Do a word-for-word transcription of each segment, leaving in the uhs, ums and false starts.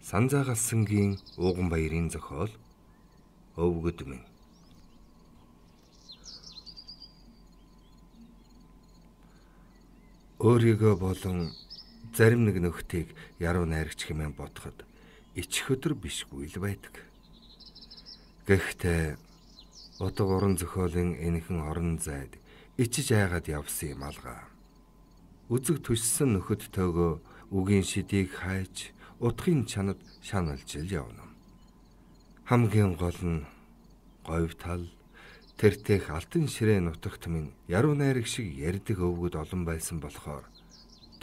Санзаагалсангийн ууган баярын зохиол өвгөд минь. Өөрийгөө болон зарим нэг нөхдийг яруу найрагч хэмээн бодоход ич өдөр бишгүй л байдаг. Гэхдээ утга уран зохиолын энэхэн орон зайд ичиж айгаад явсан юм алгаа. Үзэг түшсэн нөхөд төөгөө үгийн шидийг хайж утгын чанад шаналж явна. Хамгийн гол нь говь тал тэртех алтан ширээ нутагт минь яруу найраг шиг ярьдаг өвгөд олон байсан болохоор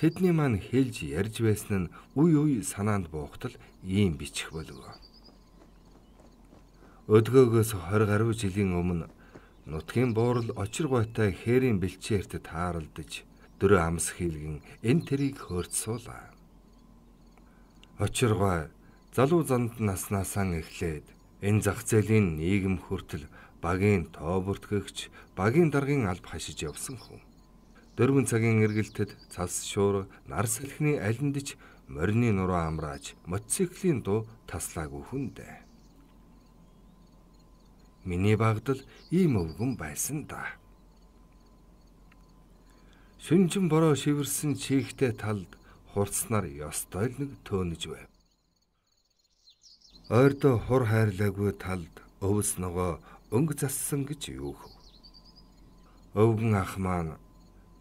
тэдний маань хэлж ярьж байсан нь үе үе санаанд буухтал ийм бичих болов. Өдгөөгөөс хорь гаруй жилийн өмнө нутгийн буурал очир гуйтай хээрийн бэлчээрт тааралдаж дөрөө амс хийлгэн энэ тэрийг хөөрцсуулаа. Очир гуй залуу занд наснаасаа эхлээд энэ зах зээлийн нийгэм хүртэл багийн тоо бүртгэгч, багийн даргын алба хашиж явсан хүн. Дөрвөн цагийн эргэлтэд цас шуур, нар салхины алиндж морины нуруу амрааж мотоциклийн дуу таслаагүй хүн дээ. Миний багтал ийм өвгөн байсан да. Шүнжин бороо шивэрсэн чихтэй талд хурцнаар ёстой л нэг төөнөж байв. Ойрдоо хур хайрлаагүй талд өвс ногоо өнгө зассан гэж юу хөв. Өвгөн ах маань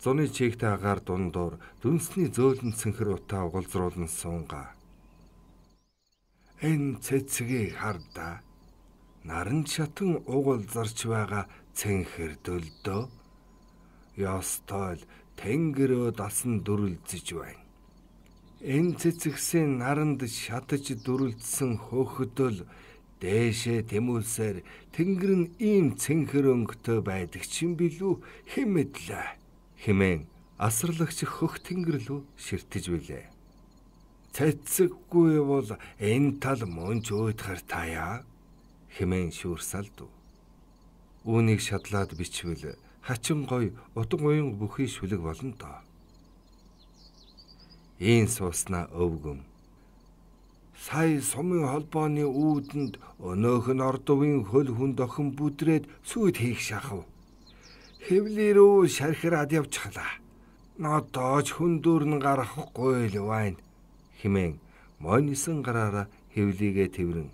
зуны чихтэй агаар дундуур дүнсний зөөлөн цэнхэр утаа угалзруулан суунгаа. Энэ цэцгийг хардаа. Наран шатан угалзарч байгаа цэнхэр дөлдөө. Ёстой л тэнгэрөө дасан дүрлзэж байна. Энэ цэцэгсийн наранд шатаж дүрлдсэн хөөхөдөл дээшээ тэмүүлсээр тэнгэр нь ийм цэнхэр өнгөтэй байдаг чинь билүү хэмэдлээ хэмээн асарлагч хөх тэнгэр лүү ширтэж билээ. Цэцэггүй бол энэ тал мөнч уйдахар таяа хэмээн шүүрсалдв. Үүнийг шадлаад бичвэл хачин гой утга уян бүхий шүлэг болно доо. Ийн сууснаа өвгөм. Сая сумын холбооны үүдэнд өнөөх нь ордовын хөл хүнд охин бүдрээд сүйд хийх шахав. Хэвлэрүү шархираад явчихлаа. Нодоож хүндүүр нь гарахгүй л байна хэмээн монисон гараараа хэвлийгээ тэрвэрэн.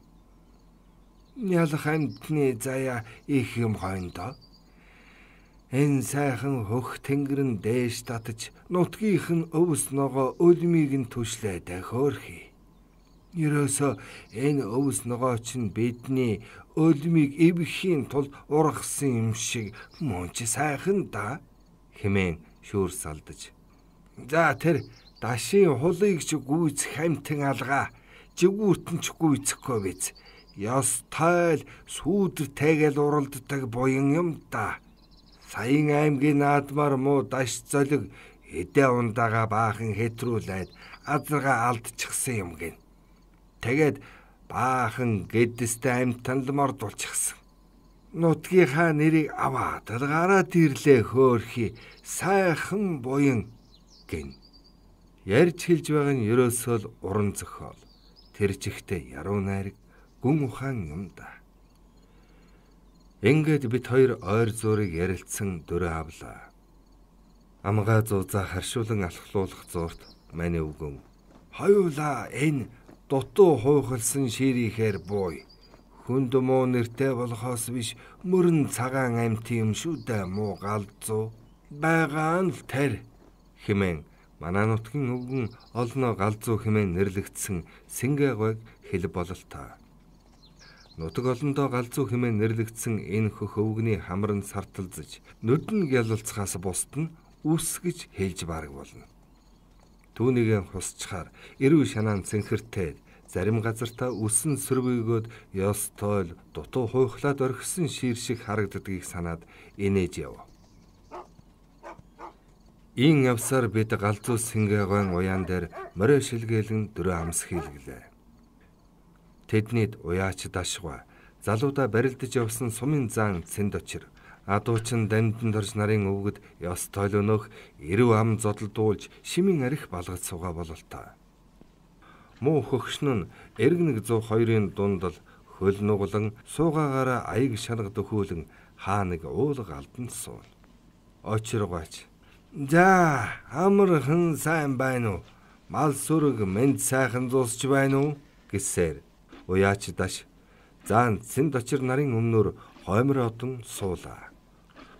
Нялх амтны заяа их юм хойндоо. Энэ сайхан хөх тэнгэр нь дээш татаж нутгийнх нь өвс ногоо өлмийг нь түшлээд хөөрхий. Ерөөсөө энэ өвс ногоо чинь бидний өлмийг эвхийн тулд ургасан юм шиг мөнч сайхан да хэмээн шүүрс алдаж. За тэр дашийн хулыг ч гүйцэх хамтан алгаа жигүүртэн ч гүйцэхгүй биз. Ёстой л сүүдэр тэгээл уралддаг буян юм да. Саян аймгийн наадмаар муу даш золиг эдээ ундаага баахан хэтрүүлээд азарга алдчихсан юм гин. Тэгээд баахан гэдэстэй амтанд мордулчихсан. Нутгийнхаа нэрийг аваад гараад ирлээ хөөрхий сайхан буян гин. Ярьж хэлж байгаа нь ерөөсөө л уран зохиол. Тэр чихтэй яруу найраг гүн ухаан юм да. Ингээд бид хоёр ойр зуурыг ярилцсан дөрөө авлаа. Амгаа зузаа харшуулан алхлуулах зуурт маний өвгөн. Хоёулаа энэ дутуу хуйхалсан ширийхээр бууй. Хүнд муу нэртэй болохоос биш мөрөн цагаан амт юм шүү дээ муу галзуу. Байгаа нь л тэр хэмээн манай нутгийн өвгөн олноо галзуу хэмээн нэрлэгдсэн сингээгойг хэл бололтой. Нутаг олондоо галзуу хэмээн нэрлэгдсэн энэ хөх өвгний хамар нь сарталзаж нүдэн гялалцахаас бусд нь үс гэж хэлж бараг болно. Түүнийгээ хусчхаар эрүү шанаан цэнхэртэй зарим газартаа үсэн сөрвөгөөд ёстой л дутуу хуйхлаад орхисон шир шиг харагддгийг санаад инээж яв. Ийн явсаар бид галзуу сингээгойн уяан дээр морио шилгээлэн дөрөө амс хийлгэлээ. Тэднийд уяач дашгва залуудаа барилдаж явсан сумын заан цэнд очир адуучин дандан дорж нарын өвгөд ёстой л өнөөх эрүү ам зодолдуулж шимийн арх балгаж суугаа бололтой. Муу хөгшин нь эрг нэг зуун хоёрын дунд л хөл нуглан суугаагаараа аяг шанаг дөхөөлөн хаа нэг уулга алданд суун. Очиргооч. За, амархан сайн байна уу? Мал сүрэг мэнд сайхан зуусч байна уу? Гэсээр уяач даш заан цэнд очир нарын өмнөр хоймор одон суулаа.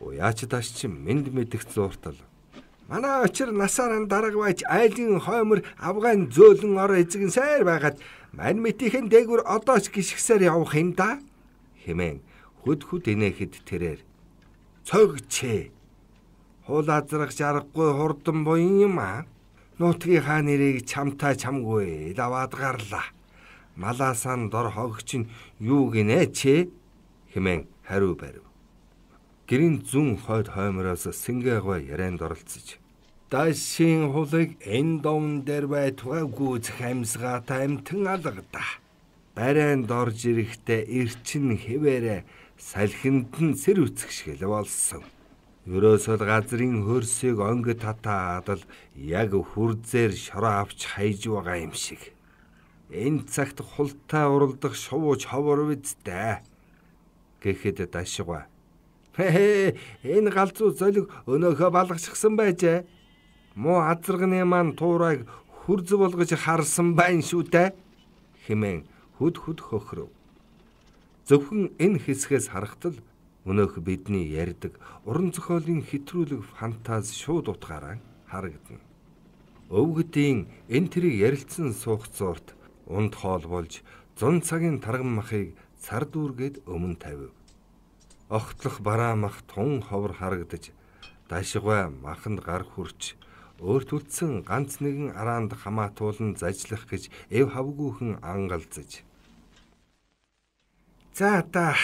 Уяач даш чи мэнд мэдэх зууртал. Манай очир насаараа дарга байж айлын хоймор авгаан зөөлөн ор эзэгэн сайр байгаад мань мэтийнхэн дээгүр одоо ч гიშгсээр явах юм да хэмээн хөд хөд инээхэд тэрээр цогчээ. Хуулаазрах жаргагүй хурдан буян юм аа. Нутгийн хаа нэрийг чамтай чамгүй даваад гарлаа. Малаасан дор хогч нь юу гинэ чи хэмээн хариу барив. Гэрийн зүүн хойд хоймороос сингээгөө ярианд оролцож дашийн хулыг энэ домн дээр бай тугай гүйцэх амьсгаатай амтэн алгадаа. Барайнд орж ирэхдээ эрчин хэвээрээ салхинд нь сэр үцгшгэл болсон. Ерөөсөө газрын хөрсийг онгид татаад л яг хүрзээр шороо авч хайж байгаа юм шиг. Энэ цагт хултай уралдах шувууч ховор үздэ гэхэд дашгаа. Хэ энэ галзуу золиг өнөөхөө балгачихсан байжээ. Муу азарганы маань туурайг хүрз болгож харсан байна шүү дээ хэмээн хөд хөд хөхрөв. Зөвхөн энэ хэсгээс харахтал өнөөх бидний ярьдаг уран зохиолын хэтрүүлэг фантаз шууд утгаараа харагдана. Өвгдийн энэ тэрийг ярилцсан суух зуурт унд хоол болж зун цагийн тарган махыг цар дүүргээд өмнө тавив. Огтлох бараа мах тун ховор харагдаж дашгаа маханд гар хүрч өөрт үлдсэн ганц нэгэн араанд хамаатуулан зажлах гэж эв хавгүйхэн ангалзаж. За та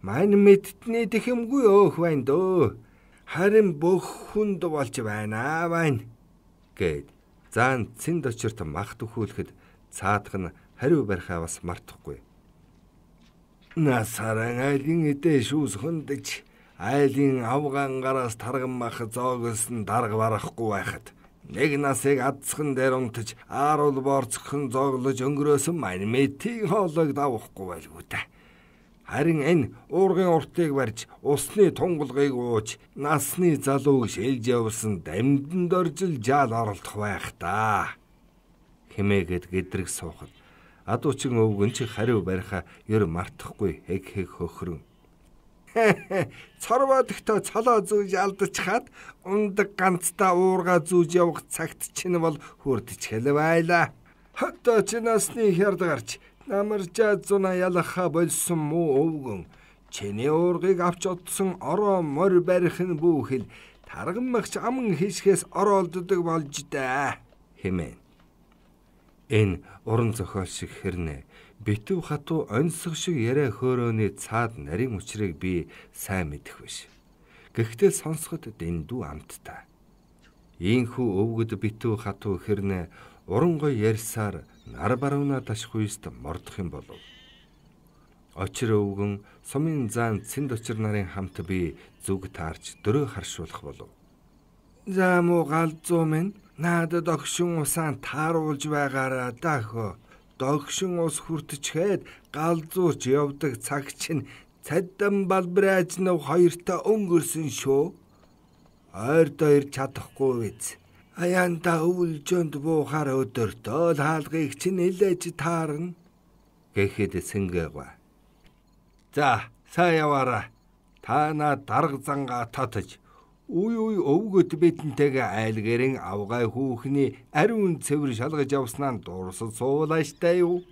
мань мэдтний дэхэмгүй өөх байна дөө. Харин бүх хүнд болж байна байна гэд заан цэнд очирт мах төхүүлэхэд цаадах нь хариу барихаа бас мартахгүй. Насаран айлын эдэ шүүс хөндөж айлын авгаан гараас тарган мах зоогсон дарга барахгүй байхад нэг насыг адсхан дээр унтаж ааруул борцхон зоглож өнгөрөөсөн мань мэтийн хоолойг давахгүй байлгүй та. Харин энэ уургын уртыг барьж усны тунгалгыг ууж насны залууг шилж явсан дамданд оржил жаал оролдох байх та хэмээгээд гэдрэг суухад адуучин өвгөн чи хариу бариха ер мартахгүй хэг хэг хөхрөн. Цорводогтой цолоо зүүж алдчихад ундаг ганцтай уурга зүүж явах цагт чинь бол хүрдчихэл байла. Хотоо чи насны хярд гарч намаржаа зуна ялаха болсон муу өвгөн чиний уургыг авч одсон ороо морь барих нь бүхэл тарган махч аман хийшгээс ороолддог болж даа хэмээн. Энэ уран зохиол шиг хэрнэ битүү хатуу онцлог шиг яриа хөөрөөний цаад нарийн учрыг би сайн мэдэх биш. Гэхдээ сонсоход дэндүү амттай. Ийхүү өвгөд битүү хатуу хэрнэ уран гой ярьсаар нар барууна дашхуйст мордох юм болов. Очир өвгөн сумын заан цэнд очир нарын хамт би зүг таарч дөрөө харшуулах болов. За муу галзуу минь надад огшин усаан тааруулж байгаараа даахөө. Догшин ус хүртчихэд галзууч явдаг цаг чинь цаддан балбрааж нав хоёртаа өнгөрсөн шүү. Ойрдоо ирж чадахгүй биз. Аяанда өвлжөнд буухаар өдөртөө л хаалгыг чинь нэлээж таарна гэхэд сэнгээва. За сайн яваараа. Та наа дарга зангаа татаж Уй уй өвгөд бидэнтэйгээ айлгэрэн авгай хүүхний ариун цэвэр шалгаж явснаа дуурсад суулааштай юу.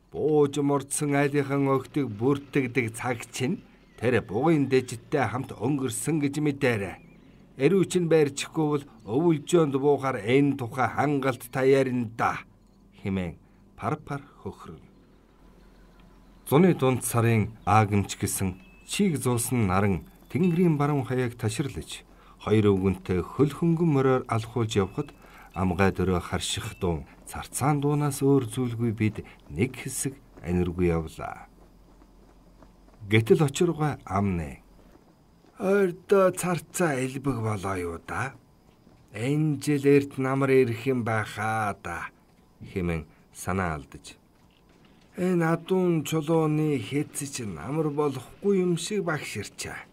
Бууж мордсон айлынхан өгтөг бүртгэдэг цаг чинь тэр бугын дэжтэй хамт өнгөрсөн гэж мэдээрэй. Эрүүч нь байрчихгүй бол өвөлжөөнд буухаар энэ тухай хангалт та ярина да хэмээн пар пар хөхрөн. Зуны дунд сарын аагэмч гэсэн чиг зуусан наран тэнгэрийн баруун хаяг таширлаж хоёр өвгөнтэй хөл хөнгөн мороор алхуулж явхад амгай дөрөө харших дуун царцаан дуунаас өөр зүйлгүй бид нэг хэсэг аниргүй явлаа. Гэтэл очиргой амнэ. Ойрдоо царцаа элбэг болоо юу да. Энэ жил эрт намар ирэх юм байхаа да хэмээн санаа алдаж. Энэ адуун чулууны хэцэж намар болохгүй юм шиг багширчаа.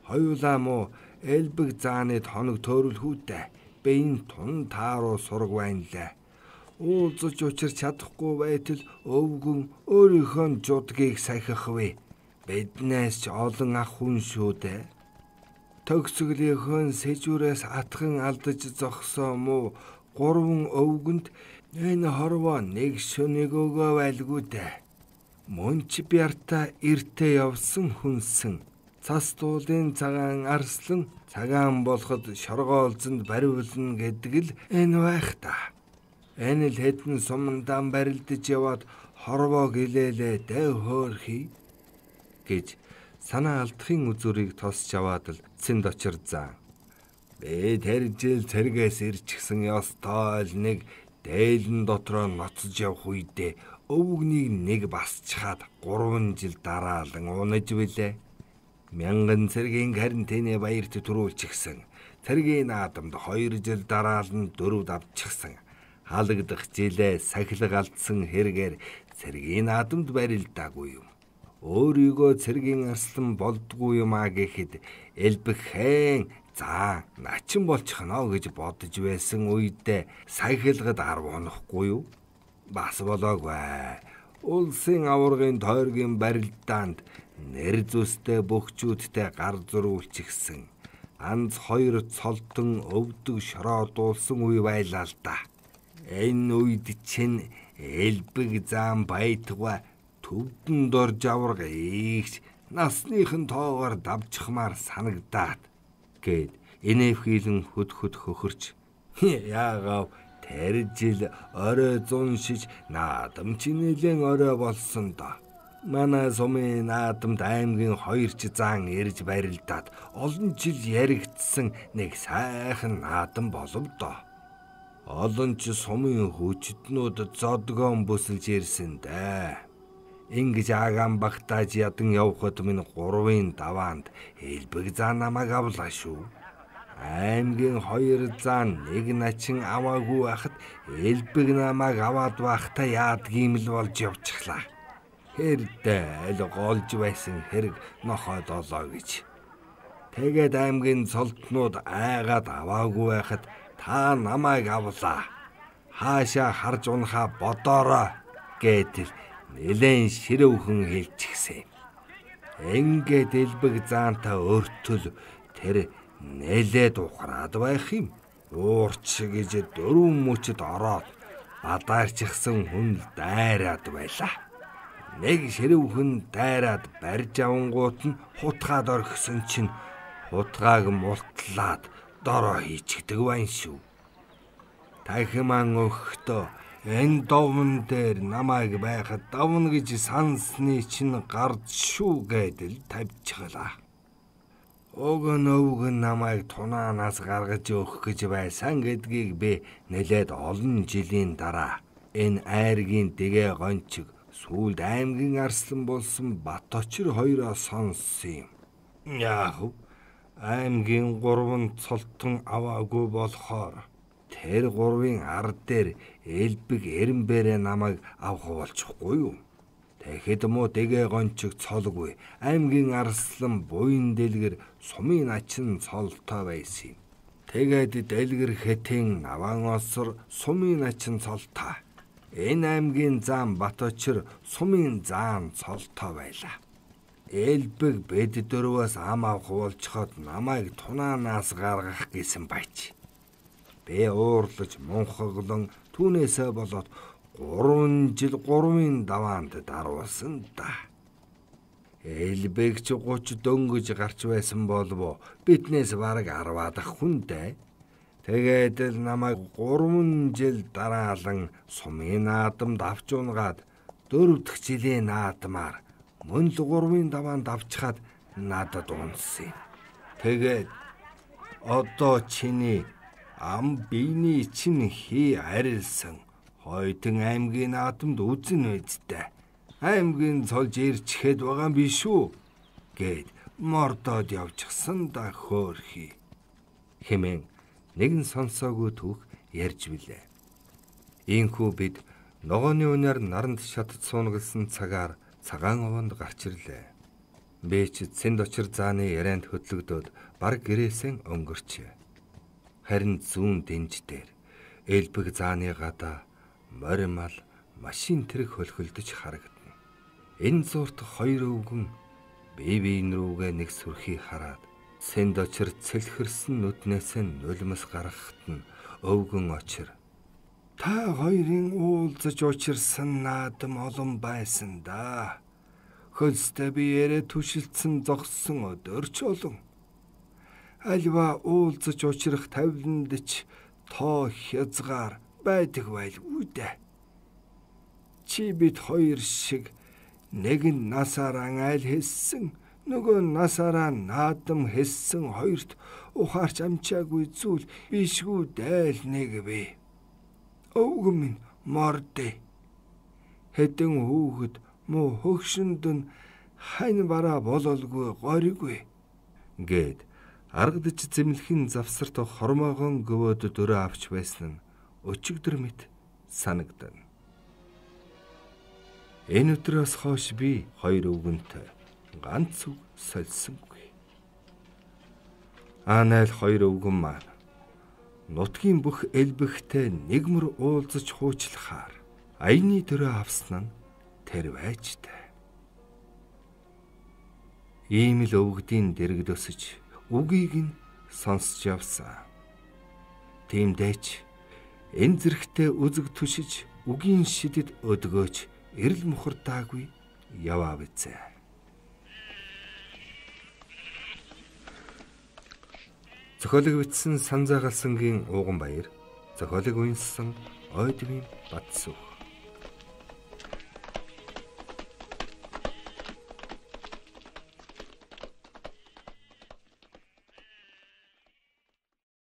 Хоёулаа мó элбэг зааныг хоног төөрөлхүүтэй бэйн тун тааруу сураг байнлаа. Уулзаж учир чадахгүй байтал өвгөн өөрийнхөө жудгийг сахих вэ. Биднээс ч олон ах хүн шүү дээ. Төгсгөлийнхөө сэжүүрээс атхан алдаж зогсоо мó гурван өвгөнд энэ хорвоо нэг шөнийг өгөө байлгүй дээ. Мөнч бярта эртээ явсан хүнсэн. Цас дуулын цагаан арслан цагаан болоход шоргоолзонд бариулна гэдэг л энэ байх та. Энэ л хэдэн сумандаан барилдаж яваад хорвоо гэлээлээ дэв хөөрхий гэж санаа алдахын үзүүрийг тосч аваад л цэнд очир заа. Би тэр жил цэргээс ирчихсэн ёстой л нэг дээлэн дотроо ноцож явах үедээ өвгнийг нэг басчхаад гурван жил дараалан унаж билээ. Мянган цэргийн карантины баярт төрүүлчихсэн. Цэргийн наадамд хоёр жил дараалан дөрөвд авчихсан. Халагдах жилээ сахилга алдсан хэрэгээр цэргийн наадамд барилдаагүй юм. Өөрийгөө цэргийн арслан болдгүй юм а гэхэд элбэхэн за начин болчихно гэж бодож байсан үедээ сахилгад арв унахгүй юу? Бас болоогүй. Улсын аваргын тойргийн барилдаанд нэр зүстэй бөхчүүдтэй гар зурүүлчихсэн. Анз хоёр цолтон өвдөг шороо дуулсан үе байлаа л да. Энэ үед чинь элбэг заан байтугай төвдөн дорж аварга ийгч насныхын тоогоор давчхмаар санагдаад гэд инэвхийлэн хөд хөд хөхөрч яагав тэр жил орой зуншиж наадам чи нэлен орой болсон доо. Манай сумын наадамд аймгийн хоёр ч заан ирж барилдаад олон жил яригдсан нэг сайхан наадам болов доо. Олон ч сумын хүчтнүүд зодгоон бүсэлж ирсэн дээ. Ингэж агаан багтааж ядан явхад минь гурвын даваанд элбэг заан намайг авлаа шүү. Аймгийн хоёр заан нэг начин аваагүй байхад элбэг намайг аваад байхдаа яадгийм л болж явчихлаа. Хэрдээ л голж байсан хэрэг нохойд олоо гэж. Тэгээд аймгийн цолтнууд айгаад аваагүй байхад та намайг авлаа. Хаашаа харж унахаа бодоорой гэдэл нэлээд ширүүхэн хэлчихсэн. Ингээд элбэг заантаа өртөл тэр нэлээд ухраад байх юм. Уурч гэж дөрвөн мөчөд ороод бадаарчихсан хүн дайраад байлаа. Нэг ширүүхэн дайраад барьж авангууд нь хутгаад орхисон чинь хутгааг мултлаад дороо хийчихдэг байна шүү. Тахиман өгөхдөө энэ довн дээр намайг байхад давна гэж сансны чинь гард шүү гэдэл тавьчихлаа. Огон өвгөн намайг тунаанаас гаргаж өгөх гэж байсан гэдгийг би нэлээд олон жилийн дараа энэ айргийн дэгэ гончиг сүүлд аймгийн арслан болсон Баточир хоёроо сонссон юм. Яах вэ? Аймгийн гурван цолтон аваагүй болохоор тэр гурвын ард дээр элбэг эренбэрэ намайг авах болчихгүй юу? Тэгэхэд муу дэгэ гончиг цолгүй аймгийн арслан буян дэлгэр сумын ачин цолтой байсан юм. Тэгээд дэлгэр хэтэн наван осор сумын ачин цолтой. Энэ аймгийн заан Баточир сумын заан цолтой байлаа. Элбэг бид дөрвөөс ам авах болчход намайг тунаанаас гаргах гэсэн байч. Би уурлаж мунхаглан түүнээсээ болоод гурван жил гурвын даваанд даруулсан да. Элбэг ч гуч дөнгөж гарч байсан болов биднээс бараг арваадах хүндээ. Тэгээд л намайг гурван жил дараалан сумын наадамд авч унгаад дөрөв дэх жилийн наадмаар мөн л гурвын даваанд авчхаад надад унсан. Тэгээд одоо чиний ам биений чинь хий арилсан Хойтон аймгийн наадамд үзэн үздэй. Аймгийн цолж ирчихэд байгаа биш үү гэд мордоод явчихсан да хөөрхий хэмээн нэгэн сонсоогүй түүх ярьж билээ. Ийхүү бид Ногооны үнээр наранд шатд суунагалсан цагаар цагаан овонд гарч ирлээ. Бээчид Сэнд очир зааны ярианд хөдлөгдөөд баг гэрээсэн өнгөрчээ. Харин зүүн дэнж дээр элбэг зааны гадаа моримал машин тэрэг хөлхөлдөж харагдана. Энэ зуурт хоёр өвгөн бие биен рүүгээ нэг сүрхий хараад Сэнд очир цэлхэрсэн нүднээс нь нулимс гаргахад нь өвгөн очир "Та хоёрын уулзаж учирсан наадам олон байсан да. Хөлстэй биеэрээ түшилдсэн зогссон өдөрч олон. Альва уулзаж учрах тавиланд ч тоо хязгаар байдаг байлгүй дээ. Чи бид хоёр шиг нэг нь насаараа айл хэлсэн, нөгөө насаараа наадам хэлсэн хоёрт ухаарч амчаагүй зүйл бишгүй дээл нэг бий. Өвгөн минь мордэ. Хэдэн хүүхэд муу хөгшөнд нь хань бараа бололгүй гориггүй" гэд аргадж зэмлэхэн завсарт хормоогон гөвөөд дөрөө авч байсан нь өчигдөр мэт санагдана. Энэ өдрөөс хойш би хоёр өвгөнтэй ганц үг сольсонгүй. Анайл хоёр өвгөн маань нутгийн бүх элбэгтэй нэгмэр уулзаж хуучлахаар аяны дөрөө авсан нь тэр байжтай. Ийм л өвгдийн дэргэд өсөж үгийг нь сонсч явсан. Тиймдээч энэ зэрэгтэй үзэг түшиж үгийн шидэд өдгөөч эрэл мухардаагүй яваа бизээ. Зохиолыг бичсэн Санзаагалсангийн Ууган Баяр, зохиолыг үнэлсэн Ойдвийн Бадсүх.